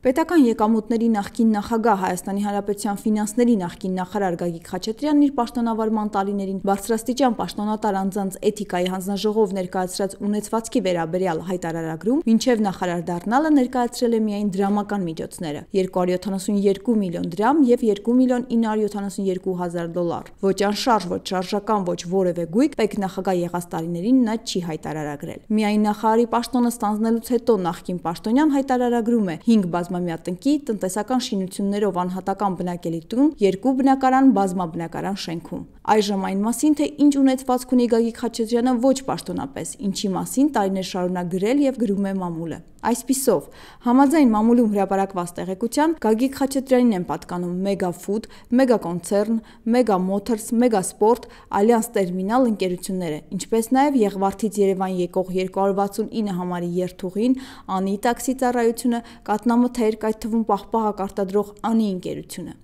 Պետական եկամուտների նախկին նախագահ Հայաստանի Հանրապետության ֆինանսների նախկին նախարար Գագիկ Խաչատրյանն իր պաշտոնավարման տարիներին բարձրաստիճան պաշտոնատար անձանց էթիկայի հանձնաժողով ներկայացրած ունեցվածքի վերաբերյալ հայտարարագրում մինչև նախարար դառնալը ներկայացրել է միայն դրամական միջոցները՝ 272 միլիոն դրամ եւ 2 միլիոն 972 հազար դոլար։ Ոչ անշարժ, ոչ շարժական, ոչ որևէ գույք պետք նախագահ եղած տարիներին նա չի հայտարարագրել։ Միայն նախարարի պաշտոնը ստանձնելուց հետո նախկին պաշտոնյան հայտարարագրում է 5 բազմամյա տնկի, տնտեսական շինություններով անհատական բնակելի տուն, 2 բնակարան, բազմաբնակարան շենքում։ Այժմ այն մասին, թե ինչ ունեցվածք ունի Գագիկ Խաչատրյանը ոչ պաշտոնապես, ինչի մասին տարիներ շարունակ գրել եւ գրում է մամուլը։ Այսպիսով, համաձայն մամուլում հրապարակված տեղեկության, Գագիկ Խաչատրյանին են պատկանում Mega Food, Mega Concern, Mega Motors, Mega Sport, Allianz Terminal ընկերությունները, ինչպես նաև Եղվարդից Երևան եկող 269 համարի երթուղին, Անի տաքսի ծառայությունը, կատնամթերք, այդ թվում պահպաղակ արտադրող Անի ընկերությունը։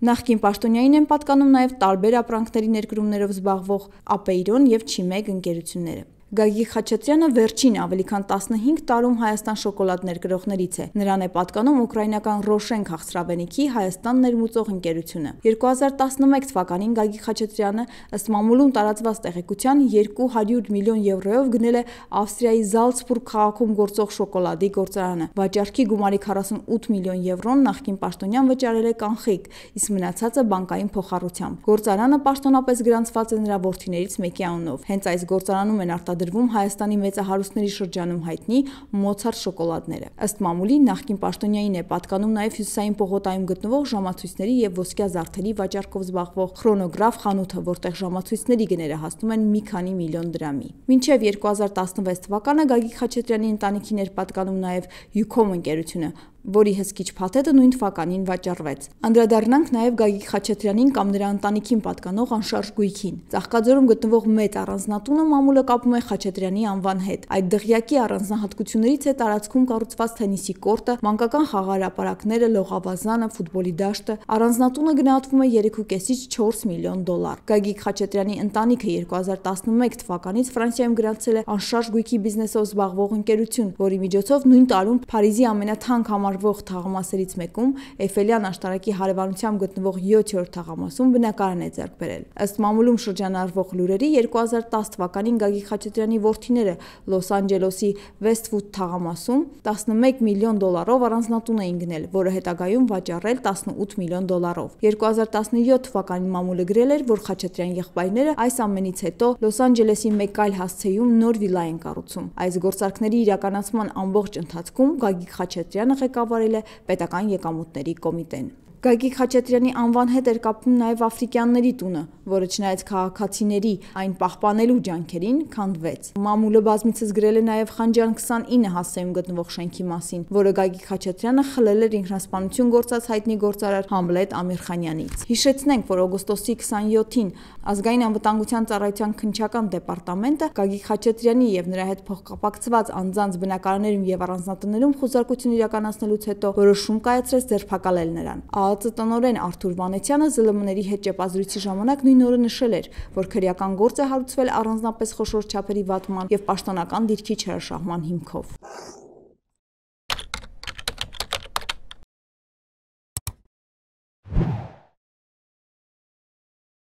Նախկին պաշտոնյային են պատկանում նաև տարբեր ապրանքների ներկրումներով զբաղվող Ապեյրոն եւ Չիմեգ ընկերությունները։ Գագիկ Խաչատրյանը վերջին ավելի քան 15 տարում Հայաստան շոկոլադ ներկրողներից է։ Նրան է պատկանում ուկրաինական Ռոշեն քաղցրավենիքի Հայաստան ներմուծող ընկերությունը։ 2011 թվականին Գագիկ Խաչատրյանը ըստ մամուլում տարածված տեղեկության 200 միլիոն եվրոյով գնել է Ավստրիայի Զալցբուրգ քաղաքում գործող շոկոլադի գործարանը։ Վաճառքի գումարի 48 միլիոն եվրոն նախկին պաշտոնյան վճարել է կանխիկ, իսկ մնացածը բանկային փոխառությամբ։ Գործարանը պաշտոնապես գրանցված է նրա որդիներից մեկի անունով։ Հենց այս գործարանում են արտադրվում Հայաստանի մեծահարուստների շրջանում հայտնի Մոցարտ շոկոլադները։ Ըստ մամուլի նախկին պաշտոնյային է պատկանում նաև Հյուսիսային պողոտայում գտնվող ժամացույցների եւ ոսկյա զարդերի վաճառքով զբաղվող Խրոնոգրաֆ խանութը, որտեղ ժամացույցների գները հասնում են մի քանի միլիոն դրամի։ Մինչև 2016 թվականը Գագիկ Խաչատրյանի ընտանիքին էր պատկանում նաև Յուքոմ ընկերությունը, որի հսկիչ փաթեթը նույն թվականին վաճառվեց։ Անդրադառնանք նաև Գագիկ Խաչատրյանին կամ նրա ընտանիքին պատկանող անշարժ գույքին։ Ծաղկաձորում գտնվող մեծ առանձնատունը մամուլը կապում է Խաչատրյանի անվան հետ։ Այդ դղյակի առանձնահատկություններից է տարածքում կառուցված թենիսի կորտը, մանկական խաղահրապարակները, լողավազանը, ֆուտբոլի դաշտը։ Առանձնատունը գնահատվում է 3.5-ից 4 միլիոն դոլար։ Գագիկ Խաչատրյանի ընտանիքը 2011 թվականից Ֆրանսիայում գրանցել է անշարժ գույքի բիզնեսով զբաղվող ընկերություն, որի միջոցով նույն տարում Փարիզի ամենաթանկ համարվող թաղամասերից մեկում Էյֆելյան աշտարակի հարևանությամբ գտնվող 7-րդ թաղամասում բնակարան է ձեռք բերել։ Ըստ մամուլում շրջանառվող լուրերի 2010 թվականին Գագիկ Խաչատրյանի որդիները Լոս Անջելեսի Վեսթվուդ թաղամասում 11 միլիոն դոլարով առանձնատուն էին գնել, որը հետագայում վաճառել 18 միլիոն դոլարով։ 2017 թվականին մամուլը գրել էր, որ Խաչատրյան եղբայրները այս ամենից հետո Լոս Անջելեսի մեկ այլ հասցեում նոր վիլա են կառուցում։ Այս գործարքների իրականացման ամբողջ ընթացքում Գագիկ Խաչատրյանը ղեկավարել է պետական եկամուտների կոմիտեն։ Գագիկ Խաչատրյանի անվան հետ էր կապվում նաև Աֆրիկյանների տունը, որը չնայած քաղաքացիների այն պահպանելու ջանքերին քանդվեց։ Մամուլը բազմիցս գրել է նաև Խանջան 29 հասցեում գտնվող շենքի մասին, որը Գագիկ Խաչատրյանը խլել էր ինքնասպանություն գործած հայտնի գործարար Համլետ Ամիրխանյանից։ Հիշեցնենք, որ օգոստոսի 27-ին Ազգային անվտանգության ծառայության քննչական դեպարտամենտը Գագիկ Խաչատրյանի եւ նրա հետ փոխկապակցված անձանց բնակարաններում եւ առանձնատներում խոզարկություն իրականացնելուց հետո որոշում կայացրեց ձերբակալել նրան։ ԱԱԾ տնօրեն Արթուր Վանեցյանը ԶԼՄ-ների հետ ճեպազրույցի ժամանակ նույն օրը նշել էր, որ քրեական գործ է հարուցվել առանձնապես խոշոր չափերի վատման եւ պաշտոնական դիրքի չհրաշահման հիմքով։